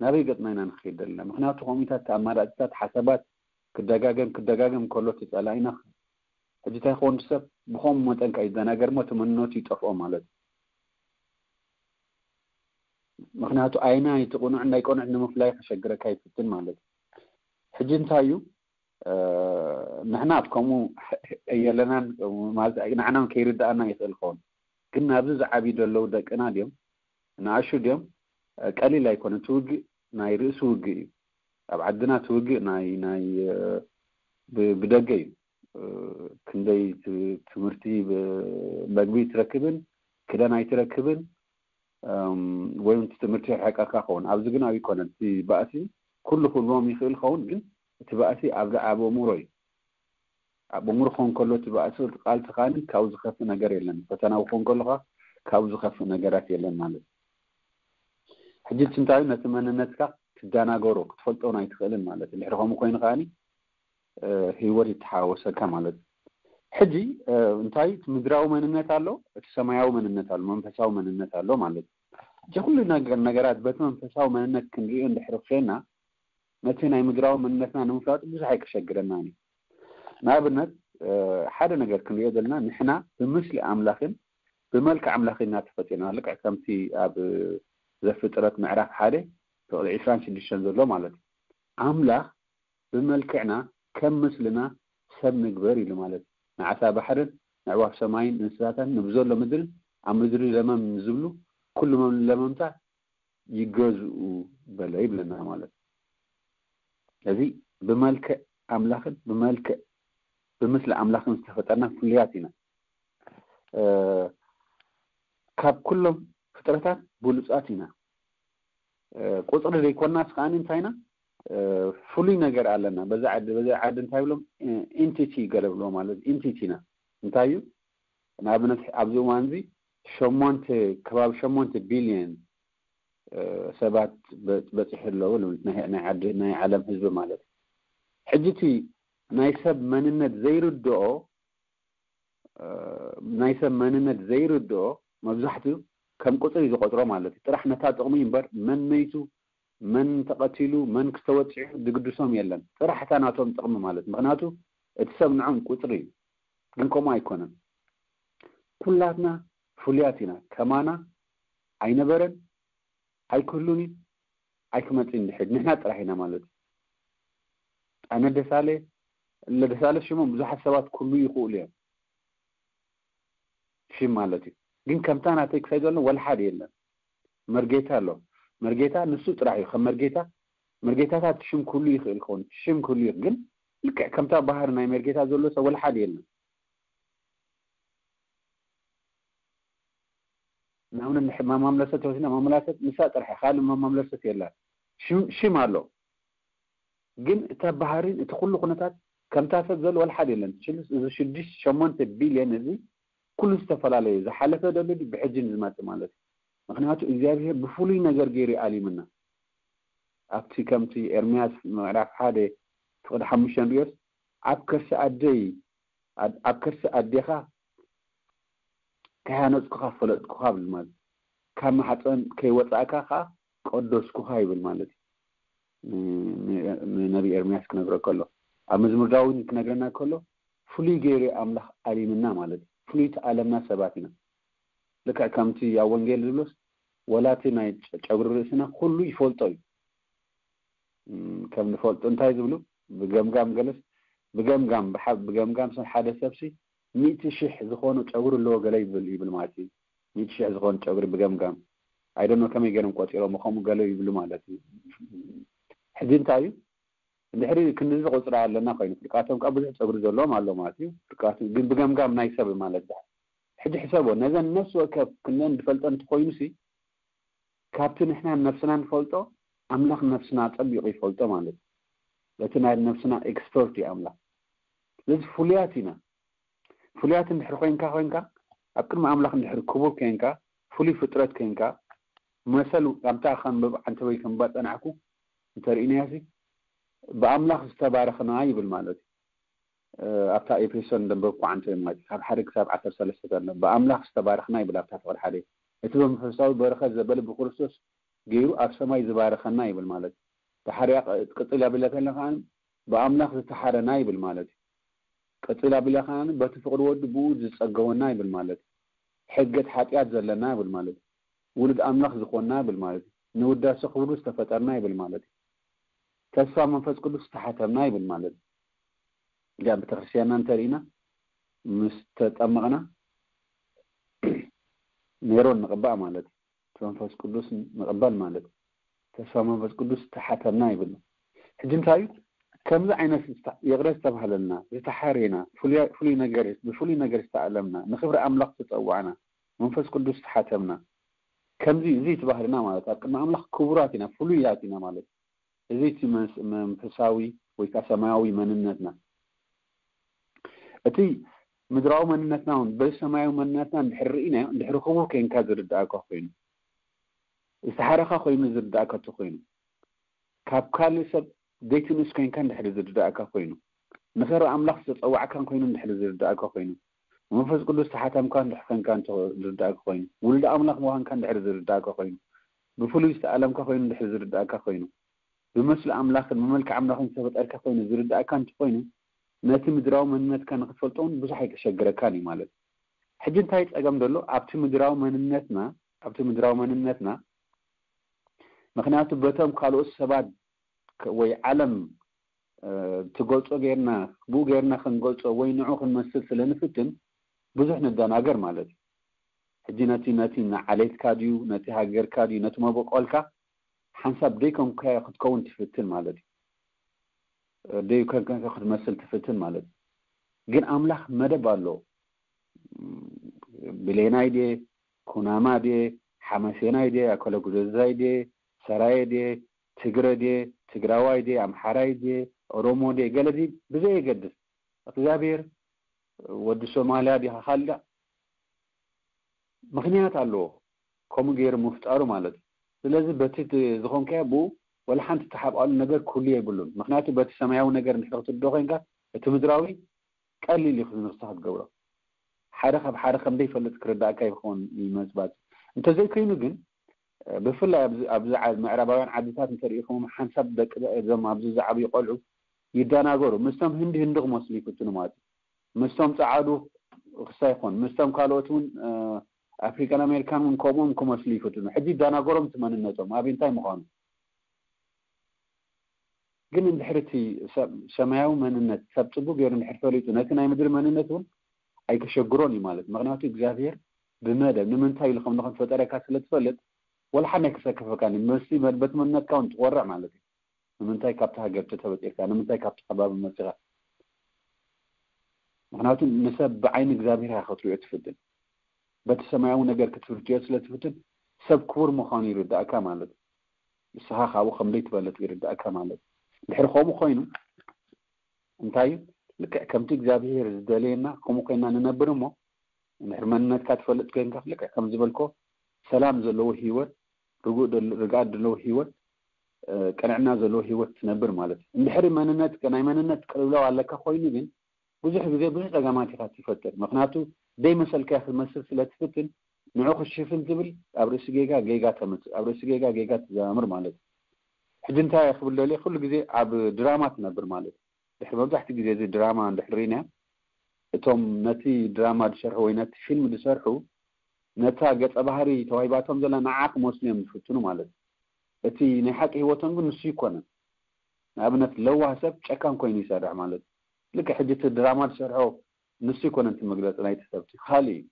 ናበይ ገጥና ኢና ንክይድ ዘለና? ምክንያቱ ከምኡታት ኣማራፅታት ሓሳባት ክደጋገም ክደጋገም ከሎ ተፀላኢና ሕጂ እንታይ ክኾን ሰብ ብኸምኡ መጠን ከይደናገር ሞ እቲ መንነቱ ይጠፍኦ ማለት እዩ። ምክንያቱ ኣይና እቲ ቅኑዕ እንዳይ ቅኑዕ ንምፍላይ ከሸግረካ ይፍትን ማለት እዩ። ሕጂ እንታይ እዩ ንሕና ኣብ ከምኡ የለናን ማለት ንዓና ከይርዳእና ይኽእል ኸውን ግን ናብዚ ዝዓብዩ ዘለዉ ደቅና ድዮም ንኣሹ ድዮም ቀሊል ኣይኮነ እቲ ውግእ ናይ ርእሲ ውግእ እዩ። ኣብ ዓድና እቲ ውግእ ናይ ናይ ብደገ እዩ። ክንደይ ትምህርቲ መግቢ ትረክብን ክደን ኣይትረክብን ወይ እቲ ትምህርቲ ይርሕቀካ ኸውን ኣብዚ ግን ኣብ ይኮነ እቲ ባእሲ ኩሉ ክህልዎም ይኽእል ኸውን ግን እቲ ባእሲ ኣብ ኣብ ኣእምሮ እዩ። ኣብ ኣእምሮ ክኸውን ከሎ እቲ ባእሲ ቃል ተኻኒ ካብ ዝኸፍእ ነገር የለን። ፈተና ክኸውን ከለካ ካብ ዝኸፍእ ነገራት የለን ማለት እዩ። ሕጂ ትንታዩ ነቲ መንነትካ ትደናገሮ ክትፈልጦ ኣይትኽእልን ማለት እዩ። ድሕሪ ከምኡ ኮይኑ ከዓኒ ህይወት ይተሓወሰካ ማለት እዩ። ሕጂ እንታይ እቲ ምድራዊ መንነት ኣሎ፣ እቲ ሰማያዊ መንነት ኣሎ፣ መንፈሳዊ መንነት ኣሎ ማለት እዩ። እዚ ኩሉ ነገር ነገራት በቲ መንፈሳዊ መንነት ክንሪኦ እንድሕሪ ኮይና ነቲ ናይ ምድራዊ መንነትና ንምፍላጥ ብዙሕ ኣይከሸግረናን እዩ። ንኣብነት ሓደ ነገር ክንሪኦ ዘለና ንሕና ብምስሊ ኣምላኽን ብመልክዕ ኣምላኽ ኢና ተፈጢርና። ልክዕ ከምቲ ኣብ ዘፍጥረት ምዕራፍ ሓደ ፍቕሊ ዕስራን ሽዱሽተን ዘሎ ማለት እዩ። ኣምላኽ ብመልክዕና ከም ምስልና ሰብ ንግበር ኢሉ ማለት እዩ። ንዓሳ ባሕርን ንዕዋፍ ሰማይን እንስሳታን ንብዘሎ ምድርን ኣብ ምድሪ ለመም ንዝብሉ ኩሉ ለመምታ ይገዝኡ በለ ይብለና ማለት እዩ። እዚ ብመልክዕ ኣምላኽን ብመልክዕ ብምስሊ ኣምላኽን ዝተፈጠርና ፍሉያት ኢና። ካብ ኩሎም ፍጥረታት ብሉፃት ኢና። ቁፅሪ ዘይኮናስ ከዓኒ እንታይ ኢና ፍሉይ ነገር ኣለና። በዛ ዓዲ በዛ ዓዲ እንታይ ብሎም ኢንቲቲ ገለ ብሎ ማለት ኢንቲቲ ኢና። እንታይ እዩ ንኣብነት ኣብዚ እዋን እዚ ሸሞንተ ከባቢ ሸሞንተ ቢልዮን ሰባት በፂሑ ኣለዉ ናይ ዓለም ህዝቢ ማለት እዩ። ሕጂ እቲ ናይ ሰብ መንነት ዘይርድኦ ናይ ሰብ መንነት ዘይርድኦ መብዛሕትኡ ከም ቁፅሪ ዝቆፅሮ ማለት እዩ። ጥራሕ ነታ ጥቕሚ እምበር መንነይቱ መን ተቐቲሉ፣ መን ክተወፂዑ ዝግድሶም የለን። ጥራሕ እታ ናቶም ጥቕሚ ማለት፣ ምኽንያቱ እቲ ሰብ ንዖም ቁፅሪ እዩ። ግን ከምኡ ኣይኮነን። ኩላትና ፍሉያት ኢና። ከማና ኣይነበረን፣ ኣይክህሉን እዩ፣ ኣይክመፅን ድሕድ ንሕና ጥራሕ ኢና ማለት እዩ። ኣነ ደሳለ ለደሳለ ሽሞም ብዙሓት ሰባት ክህሉ ይኽእሉ እዮም፣ ሽም ማለት እዩ። ግን ከምታ ናተይ ክሳይ ዘሎ ወላ ሓደ የለን። መርጌታ ኣሎ። መርጌታ ንሱ ጥራሕ እዩ ከም መርጌታ። መርጌታታት ሽም ክህሉ ይኽእል ክኸውን፣ ሽም ክህሉ ይኽእል፣ ግን ልክዕ ከምታ ባህሪ ናይ መርጌታ ዘሎ ሰብ ወላ ሓደ የለን። ንኣብነት ማማምለሰት ወሲና ማመላሰት ንሳ ጥራሕ ካልእ ማማምለሰት የላን። ሽም ኣሎ፣ ግን እታ ባህሪን እቲ ኩሉ ኩነታት ከምታ ሰብ ዘሎ ወላ ሓደ የለን። እዚ ሽዱሽተ ሸሞንተ ቢልዮን እዚ ኩሉ ዝተፈላለየ ዝሓለፈ ደሎ ብሕጂ ንዝመጽእ ማለት እዩ። ምክንያቱ እግዚኣብሔር ብፍሉይ ነገር ገይሩ ኣሊምና። ኣብቲ ከምቲ ኤርምያስ ምዕራፍ ሓደ ፍቕዲ ሓሙሽተ ንሪኦስ ኣብ ከርሲ ኣደይ ኣብ ከርሲ ኣዴኻ ከይሃነፅኩኻ ፈለጥኩኻ ብል ማለት ካብ ማሕፀን ከይወፃእካ ከዓ ቀደስኩኻ ይብል ማለት እዩ። ንነቢ ኤርምያስ ክነግረ ከሎ ኣብ መዝሙር ዳዊት ክነግረና ከሎ ፍሉይ ገይሩ ኣምላኽ ኣሊምና ማለት እዩ። ፍሉይ ተኣለምና ሰባት ኢና። ልክዕ ከምቲ ኣብ ወንጌል ዝብሎስ ወላቲ ናይ ጨጉሪ ርእስና ኩሉ ይፈልጦ እዩ። ከም ንፈልጦ እንታይ ዝብሉ ብገምጋም ገለስ ብገምጋም ብገምጋም ሰብ ሓደ ሰብሲ ሚእቲ ሽሕ ዝኾኑ ጨጉሪ ኣለዎ ገለ ይብል ይብል ማለት እዩ። ሚእቲ ሽሕ ዝኾኑ ጨጉሪ ብገምጋም ኣይደኖ ከመይ ገይሮም ቆፂሮም ከምኡ ገለ ይብሉ ማለት እዩ። ሕጂ እንታይ እዩ እንድሕሪ ክንድዚ ቁፅሪ ኣለና ኮይኑ ፍርቃቶም ካብ ብዙሕ ጸጉሪ ዘለዎም ኣሎ ማለት እዩ። ፍርቃቱ ግን ብገምጋም ናይ ሰብ ማለት ዳ ሕጂ ሕሰቦ ነዘን ነፍሲ ወከፍ ክንደን ዝፈልጠን እንተኮይኑ ሲ ካብቲ ንሕና ነፍስና ንፈልጦ ኣምላኽ ነፍስና ጸቢቑ ይፈልጦ ማለት እዩ። እቲ ናይ ነፍስና ኤክስፐርት እዩ ኣምላኽ። ስለዚ ፍሉያት ኢና። ፍሉያት እንድሕር ኮይንካ ኮይንካ ኣብ ቅድሚ ኣምላኽ እንድሕር ክቡር ኮይንካ ፍሉይ ፍጥረት ኮይንካ መሰል ኣብታ ከንብብ ዓንተበይ ከንባ ጸናሕኩ እንተርእናያሲ ብኣምላኽ ዝተባረኽና ይብል ማለት እዩ። ኣብታ ኤፌሶን ደንበብኩ ዓንተበይ ማለት እዩ ካብ ሓደ ክሳብ ዓሰርተ ሰለስተ ዘሎ ብኣምላኽ ዝተባረኽና ይብል ኣብታ ፍቕሪ ሓደ እቲ በመንፈሳዊ በረኸት ዘበለ ብክርስቶስ ገይሩ ኣብ ሰማይ ዝባረኸና ይብል ማለት እዩ። ተሓርያ ቅጽል ያብለ ከለኻ ብኣምላኽ ዝተሓረና ይብል ማለት እዩ። ቀጺል ኣቢላ ከኣ በቲ ፍቕሪ ወዱ ብኡ ዝጸገወና ይብል ማለት እዩ። ሕገት ሓጢኣት ዘለና ይብል ማለት እዩ። ውሉድ ኣምላኽ ዝኾንና ይብል ማለት እዩ። ንውዳሴ ክብሩ ዝተፈጠርና ይብል ማለት እዩ። ተስፋ መንፈስ ቅዱስ ዝተሓተምና ይብል ማለት እዩ። እዚኣ ቤተክርስትያንና እንተርኢና ምስ ተጠመቕና ሜሮን ንቕባእ ማለት እዩ። እቲ መንፈስ ቅዱስ ንቕበል ማለት ተስፋ መንፈስ ቅዱስ ተሓተምና ይብሉ። ሕጂ እንታይ እዩ ከምዚ ዓይነት ይቕረ ዝተባህለልና ዝተሓሬና ብፍሉይ ነገር ዝተኣለምና ንክብሪ ኣምላኽ ዝተፀዋዕና መንፈስ ቅዱስ ተሓተምና ከምዚ እዚ ትባህልና ማለት ኣብ ቅድሚ ኣምላኽ ክቡራት ኢና ፍሉያት ኢና ማለት እዚ እቲ መንፈሳዊ ወይ ከዓ ሰማያዊ መንነትና እቲ ምድራዊ መንነትና እውን በዚ ሰማያዊ መንነትና እንድሕር ርኢናዮ እንድሕር ክቡር ኮይንካ ዝርዳእካ ኮይኑ ዝተሓረኻ ኮይኑ ዝርዳእካ እንተኮይኑ ካብ ካልእ ሰብ ዘይትንእስ ኮይንካ እንድሕር ዝርዳእካ ኮይኑ ንኸሪ ኣምላኽ ዝተፀዋዕካን ኮይኑ እንድሕር ዝርዳእካ ኮይኑ መንፈስ ቅዱስ ተሓተምካ እንድሕር ኮይንካ ዝርዳእካ ኮይኑ ውሉድ ኣምላኽ ምዃንካ እንድሕር ዝርዳእካ ኮይኑ ብፍሉይ ዝተኣለምካ ኮይኑ እንድሕር ዝርዳእካ ኮይኑ ብመስሊ ኣምላኽን ብመልክዕ ኣምላኽን ዝተፈጠርካ ኮይኑ ዝርዳእካ እንተኮይኑ ነቲ ምድራዊ መንነትካ ንክትፈልጦ እውን ብዙሕ ኣይተሸግረካን እዩ ማለት እዩ። ሕጂ እንታይ ፀገም ዘሎ ኣብቲ ምድራዊ መንነትና ኣብቲ ምድራዊ መንነትና ምክንያቱ በቶም ካልኦት ሰባት ወይ ዓለም ትገልፆ ገይርና ብኡ ገይርና ክንገልፆ ወይ ንዑ ክንመስል ስለ ንፍትን ብዙሕ ንደናገር ማለት እዩ። ሕጂ ነቲ ነቲ ንዓሌትካ ድዩ ነቲ ሃገርካ ድዩ ነቲ መበቆልካ ሓንሳብ ደይኮንካዮ ክትከውን ትፍትን ማለት እዩ። ደይኮንካ ክትመስል ትፍትን ማለት እዩ። ግን ኣምላኽ መደብ ኣሎ። ብሌናይ ድየ፣ ኩናማ ድየ፣ ሓመሴናይ ድየ፣ ኣከለጉዘዛይ ድየ፣ ሰራየ ድየ፣ ትግረ ድየ፣ ትግራዋይ ድየ፣ ኣምሓራይ ድየ፣ ኦሮሞ ድየ፣ ገለ ድዩ ብዘየገድስ እግዚኣብሔር ወዲ ሶማልያ ዲኻ ካልእ ምኽንያት ኣለዎ ከምኡ ገይሩ ምፍጣሩ ማለት እዩ። ስለዚ በቲ ዝኾንካዮ ብኡ ወላ ሓንቲ ተሓብኣሉ ነገር ክህሉ የብሉን። ምክንያቱ በቲ ሰማያዊ ነገር እንድሕር ክትርዶ ኮይንካ እቲ ምድራዊ ቀሊል እዩ ንስኻ ክትገብሮ። ሓደ ካብ ሓደ ከም ዘይፈልጥ ክርዳእካ ይኸውን ይመፅባፅ። እንተዘይኮይኑ ግን ብፍላይ ኣብዚ ኣብዚ ዓ- ምዕራባውያን ዓድታት እንተሪኢኹም ሓንሳብ ደቂ እዞም ኣብዚ ዝዓብዩ ቆልዑ ይደናገሩ። ምስቶም ህንዲ ህንዲ ክመስሉ ይፍትኑ ማለት እዩ። ምስቶም ጸዓዱ ክሳ ይኾን ምስቶም ካልኦት እውን ኣፍሪካን ኣሜሪካን እውን ከምኦም ክመስሉ ይፍትኑ። ሕጂ ይደናገሮም እቲ መንነቶም ኣብ እንታይ ምዃኑ። ግን እንድሕር እቲ ሰብ- ሰማያዊ መንነት ሰብ ጽቡቅ ገይሩ እንድሕር ፈሊጡ ነቲ ናይ ምድሪ መንነት እውን ኣይከሸግሮን እዩ ማለት። ምክንያቱ እግዚኣብሔር ብመደብ ንምንታይ ኢሉ ከም ንኾን ፈጠረካ ስለ ትፈልጥ ወላ ሓን ኣይከሰከፈካን እዩ። መሲ በቲ መንነትካ እውን ትቆርዕ ማለት እዩ። ንምንታይ ካብቲ ሃገር ተተበጢርካ? ንምንታይ ካብቲ ከባቢ መፂኻ? ምክንያቱ ንሰብ ብዓይኒ እግዚኣብሔር ኢኻ ክትሪኦ ትፍትን። በቲ ሰማያዊ ነገር ክትርድኦ ስለ ትፍትን ሰብ ክቡር ምዃኑ ይርዳእካ ማለት እዩ። ንስኻ ካብኡ ከም ዘይትበልጥ ይርዳእካ ማለት እዩ። ድሕሪ ከምኡ ኮይኑ እንታይ እዩ? ልክዕ ከምቲ እግዚኣብሔር ዝደለየና ከምኡ ኮይና ንነብር እሞ እንድሕር መንነትካ ትፈልጥ ኮይንካ ልክዕ ከም ዝበልኮ ሰላም ዘለዎ ህይወት፣ ርጉእ ደል- ርግኣት ዘለዎ ህይወት፣ እ፣ ቅንዕና ዘለዎ ህይወት ትነብር ማለት እዩ። እንድሕሪ መንነት ናይ መንነት ቅልውላው ኣለካ ኮይኑ ግን ብዙሕ ግዜ ብዙሕ ጸገማት ኢኻ ትፈጥር። ምክንያቱ ደይ መሰልካ ክትመስል ስለ ትፍትን ንዑ ክሽፍን ትብል ኣብ ርእሲ ጌጋ ጌጋ ተምጽእ፣ ኣብ ርእሲ ጌጋ ጌጋ ትዘማምር ማለት እዩ። ሕጂ እንታይ ክብል ደልየ ኩሉ ግዜ ኣብ ድራማ ትነብር ማለት እዩ። ድሕሪ መብዛሕትኡ ግዜ እዚ ድራማ እንድሕር ርኢና እቶም ነቲ ድራማ ዝሰርሑ ወይ ነቲ ፊልም ዝሰርሑ ነታ ገጸ ባህሪ ተዋሂባቶም ዘላ ንዓ ክመስሉ እዮም ዝፍትኑ ማለት እዩ። እቲ ናይ ሓቂ ህይወቶም ግን ንሱ ይኮነን። ንኣብነት ለዋህ ሰብ ጨካን ኮይኑ ይሰርሕ ማለት እዩ። ልክዕ ሕጂ እቲ ድራማ ዝሰርሖ ንሱ ይኮነን እቲ መግለፂ ናይቲ ሰብ እቲ ካልእ እዩ።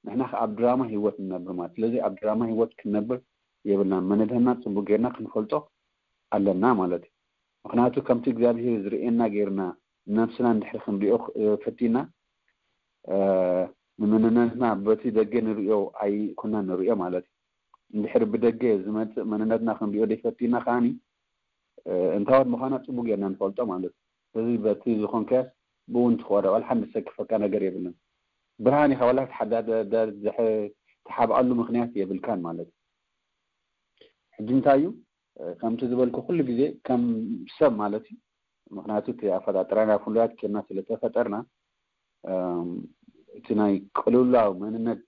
ንሕና ከ ኣብ ድራማ ህይወት ንነብር ማለት ስለዚ ኣብ ድራማ ህይወት ክንነብር የብልናን። መነድህና ፅቡቅ ጌርና ክንፈልጦ ኣለና ማለት እዩ። ምክንያቱ ከምቲ እግዚኣብሄር ዝርእየና ጌርና ነብስና እንድሕር ክንሪኦ ፈቲና ንምንነትና በቲ ደገ ንርእዮ ኣይኮናን ንርእዮ ማለት እዩ። እንድሕር ብደገ ዝመፅእ መንነትና ክንሪኦ ደይፈቲና ከዓኒ እንታወት ምዃና ፅቡቅ ጌርና ንፈልጦ ማለት እዩ። ስለዚ በቲ ዝኾንካዮስ ብእውን ትኾረ ዋላ ሓንቲ ዝሰክፈካ ነገር የብልን። ብርሃን ኢኻ ዋላ ትሓባኣሉ ምክንያት የብልካን ማለት እዩ። ሕጂ እንታይ እዩ ከምቲ ዝበልኩ ኩሉ ግዜ ከም ሰብ ማለት እዩ። ምክንያቱ እቲ ኣፈጣጥራና ፍሉያት ኬና ስለተፈጠርና እቲ ናይ ቅልውላው መንነት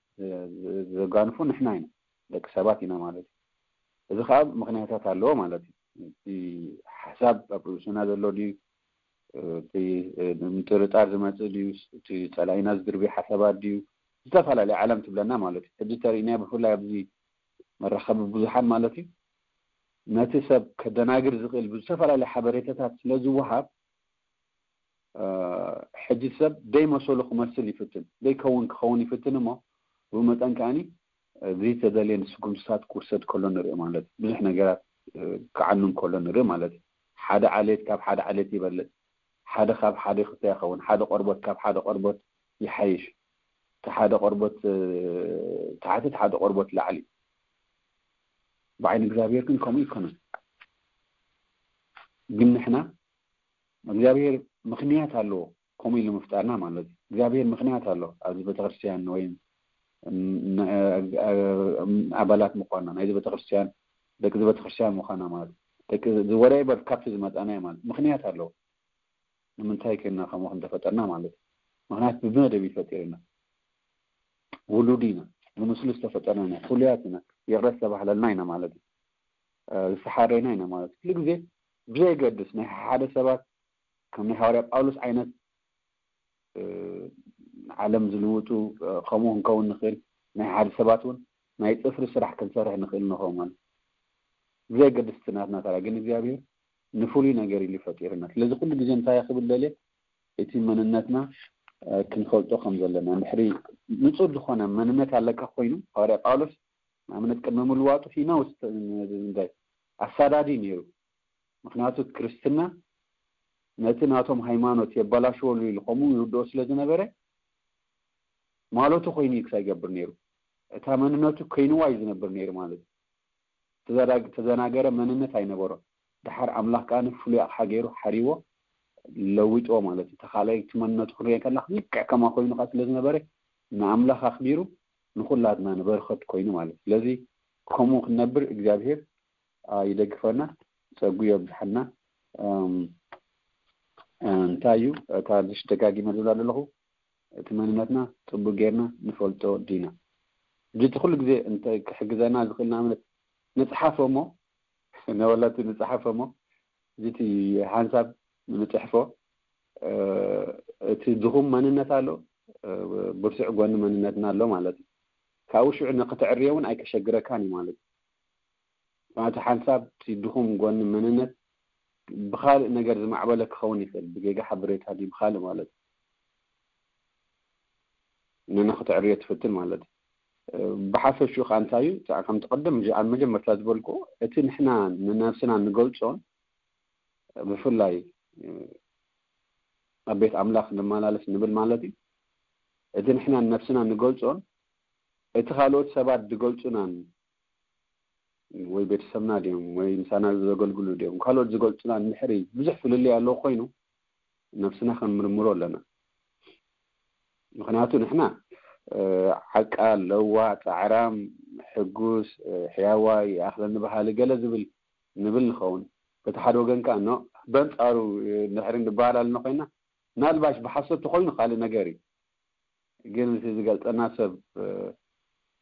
ዘጋንፉ ንሕና ኢና፣ ደቂ ሰባት ኢና ማለት እዩ። እዚ ከዓ ምክንያታት ኣለዎ ማለት እዩ። እቲ ሓሳብ ኣብ ርእስና ዘሎ ድዩ፣ እቲ ምጥርጣር ዝመፅእ ድዩ፣ እቲ ፀላኢና ዝድርብዩ ሓሳባት ድዩ፣ ዝተፈላለዩ ዓለም ትብለና ማለት እዩ። ሕጂ ተሪእና ብፍላይ ኣብዚ መራኸቢ ብዙሓን ማለት እዩ ነቲ ሰብ ከደናግር ዝኽእል ብዝተፈላለዩ ሓበሬታታት ስለ ዝወሃብ ሕጂ ሰብ ደይ መሰሉ ክመስል ይፍትን፣ ደይ ከውን ክኸውን ይፍትን እሞ ብኡ መጠን ከዓኒ ዘይተደልየ ንስጉምትታት ክውሰድ ከሎ ንሪኦ ማለት ብዙሕ ነገራት ክዓኑ ከሎ ንሪኦ ማለት ሓደ ዓሌት ካብ ሓደ ዓሌት ይበልፅ፣ ሓደ ካብ ሓደ ክፍያ ይኸውን፣ ሓደ ቆርቦት ካብ ሓደ ቆርቦት ይሓይሽ፣ እቲ ሓደ ቆርቦት ታሕቲ እቲ ሓደ ቆርቦት ላዕሊ። ብዓይኒ እግዚኣብሔር ግን ከምኡ ይኮነን። ግን ንሕና እግዚኣብሔር ምክንያት ኣለዎ ከምኡ ኢሉ ምፍጣርና ማለት እዩ። እግዚኣብሔር ምክንያት ኣሎ ኣብዚ ቤተክርስትያን ወይ ኣባላት ምኳና ናይዚ ቤተክርስትያን ደቂ ቤተክርስትያን ምኳና ማለት ደቂ ዝወረይ በር ካብቲ ዝመጣና ማለት ምክንያት ኣለዎ። ንምንታይ ኮይና ከምኡ ክንተፈጠርና ማለት እዩ። ምክንያት ብመደብ ይፈጢርና ውሉድ ኢና፣ ብምስሉ ዝተፈጠርና ኢና፣ ፍሉያት ኢና፣ ይቕረ ዝተባህለልና ኢና ማለት እዩ። ዝተሓረና ኢና ማለት እዩ። ኩሉ ግዜ ብዘይገድስ ናይ ሓደ ሰባት ከም ናይ ሃዋርያ ጳውሎስ ዓይነት ዓለም ዝልውጡ ከምኡ ክንከውን ንኽእል ናይ ሓደ ሰባት እውን ናይ ፅፍሪ ስራሕ ክንሰርሕ ንኽእል ንኸውን ማለት ብዘይገድስ ናትና ተራ ግን እግዚኣብሔር ንፍሉይ ነገር ኢሉ ፈጢርና። ስለዚ ኩሉ ግዜ እንታይ ክብል ደልየ እቲ መንነትና ክንፈልጦ ከም ዘለና እንድሕሪ ንፁር ዝኾነ መንነት ኣለካ ኮይኑ ሃዋርያ ጳውሎስ ንኣብነት ቅድሚ ምልዋጡ ሂናውስ እንታይ ኣሳዳዲ ነይሩ። ምክንያቱ ክርስትና ነቲ ናቶም ሃይማኖት የበላሽወሉ ኢሉ ከምኡ ይርድኦ ስለ ዝነበረ ማለቱ ኮይኑ እዩ ክሳይ ይገብር ነይሩ። እታ መንነቱ ኮይንዋ እዩ ዝነብር ነይሩ ማለት እዩ። ተዘናገረ መንነት ኣይነበሮን። ድሓር ኣምላኽ ከዓ ፍሉይ ኣቕሓ ገይሩ ሓሪዎ ለዊጥዎ ማለት እዩ። ተኻልኣይ እቲ መንነቱ ክንሪኦ ከላ ልክዕ ከማ ኮይኑ ከዓ ስለ ዝነበረ ንኣምላኽ ኣኽቢሩ ንኩላትና ንበረኸት ኮይኑ ማለት እዩ። ስለዚ ከምኡ ክንነብር እግዚኣብሔር ይደግፈና፣ ፀጉ የብዝሓና። እንታይ እዩ እታ ልሽ ደጋጊመ ዝብላ ዘለኹ እቲ መንነትና ፅቡቅ ጌርና ንፈልጦ ዲና? ጅቲ ኩሉ ግዜ እንተ ክሕግዘና ዝኽእል ንኣብነት ንጽሓፎ እሞ ንወለቲ ንጽሓፎ እሞ ጅቲ ሓንሳብ ንጽሕፎ እቲ ድኹም መንነት ኣሎ፣ ብርቱዕ ጎኒ መንነትና ኣሎ ማለት እዩ። ካብኡ ሽዑ ንክትዕርዮ እውን ኣይከሸግረካን እዩ ማለት እዩ። ማለት ሓንሳብ እቲ ድኹም ጎኒ መንነት ብኻልእ ነገር ዝማዕበለ ክኸውን ይኽእል፣ ብጌጋ ሓበሬታ ድዩ ብኻልእ ማለት እዩ። ንክትዕርዮ ትፍትን ማለት እዩ። ብሓፈሽኡ ከዓ እንታይ እዩ ከምቲ ቅድም ኣብ መጀመርታ ዝበልኩ እቲ ንሕና ንነብስና ንገልጾን ብፍላይ ኣብ ቤት ኣምላኽ ንመላለስ ንብል ማለት እዩ። እቲ ንሕና ንነብስና ንገልጾን እቲ ካልኦት ሰባት ዝገልጹናን ወይ ቤተሰብና ድዮም ወይ ምሳና ዘገልግሉ ድዮም ካልኦት ዝገልጹና እንድሕሪ ብዙሕ ፍልልይ ኣለዎ ኮይኑ ነብስና ክንምርምሮ ኣለና። ምክንያቱ ንሕና ዓቃል፣ ለዋ፣ ጻዕራም፣ ሕጉስ፣ ሕያዋይ፣ ይኣኽለኒ በሃሊ ገለ ዝብል ንብል ንኸውን። በቲ ሓደ ወገን ከኣ ኖ በንጻሩ እንድሕሪ ንበሃል ኣለና ኮይና ምናልባሽ ብሓሶት ተኮይኑ ካልእ ነገር እዩ። ግን እቲ ዝገልጸና ሰብ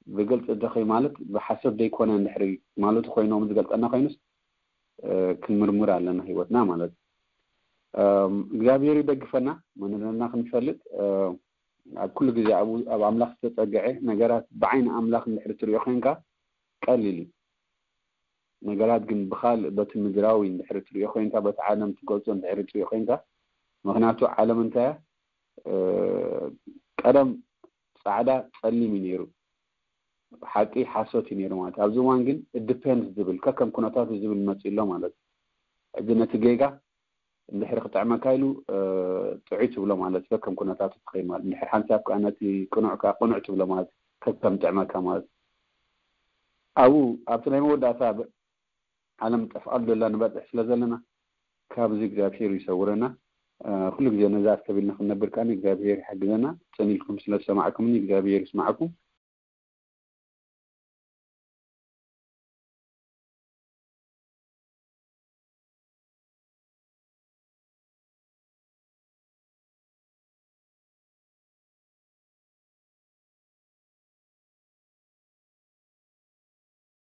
ብግልፂ ደኸይ ማለት ብሓሰብ ዘይኮነ እንድሕሪ ማለቱ ኮይኖም ዝገልፀና ኮይኑስ ክንምርምር ኣለና ህይወትና ማለት እዩ። እግዚኣብሔር ይደግፈና። መንነትና ክንፈልጥ ኣብ ኩሉ ግዜ ኣብኡ ኣብ ኣምላኽ ዝተፀግዐ ነገራት ብዓይኒ ኣምላኽ እንድሕሪ ትሪኦ ኮይንካ ቀሊል እዩ። ነገራት ግን ብካልእ በቲ ምድራዊ እንድሕሪ ትሪኦ ኮይንካ በቲ ዓለም ትገልፆ እንድሕሪ ትሪኦ ኮይንካ ምክንያቱ ዓለም እንታይ ቀደም ፃዕዳ ፀሊም እዩ ነይሩ። ሓቂ ሓሶት እዩ ነይሩ ማለት ኣብዚ እዋን ግን ዲፔንድ ዝብል ከከም ኩነታቱ ዝብል መፅእ ኣሎ ማለት እዩ። ሕዚ ነቲ ጌጋ እንድሕሪ ክጥዕመካ ኢሉ ጥዑይ ትብሎ ማለት ከከም ኩነታቱ ትኸይድ ማለት እንድሕሪ ሓንሳብ ከዓ ነቲ ቅኑዕ ከዓ ቅኑዕ ትብሎ ማለት ከከም ጥዕመካ ማለት ኣብኡ ኣብቲ ናይ መወዳእታ ዓለም ጠፍኣሉ ዘላ ንበፅሕ ስለ ዘለና ካብዚ እግዚኣብሔር ይሰውረና። ኩሉ ግዜ ነዚ ኣስተቢልና ክንነብር ከዓ እግዚኣብሔር ይሓግዘና። ፅን ኢልኩም ስለ ዝሰማዕኩምኒ እግዚኣብሔር ይስማዕኩም።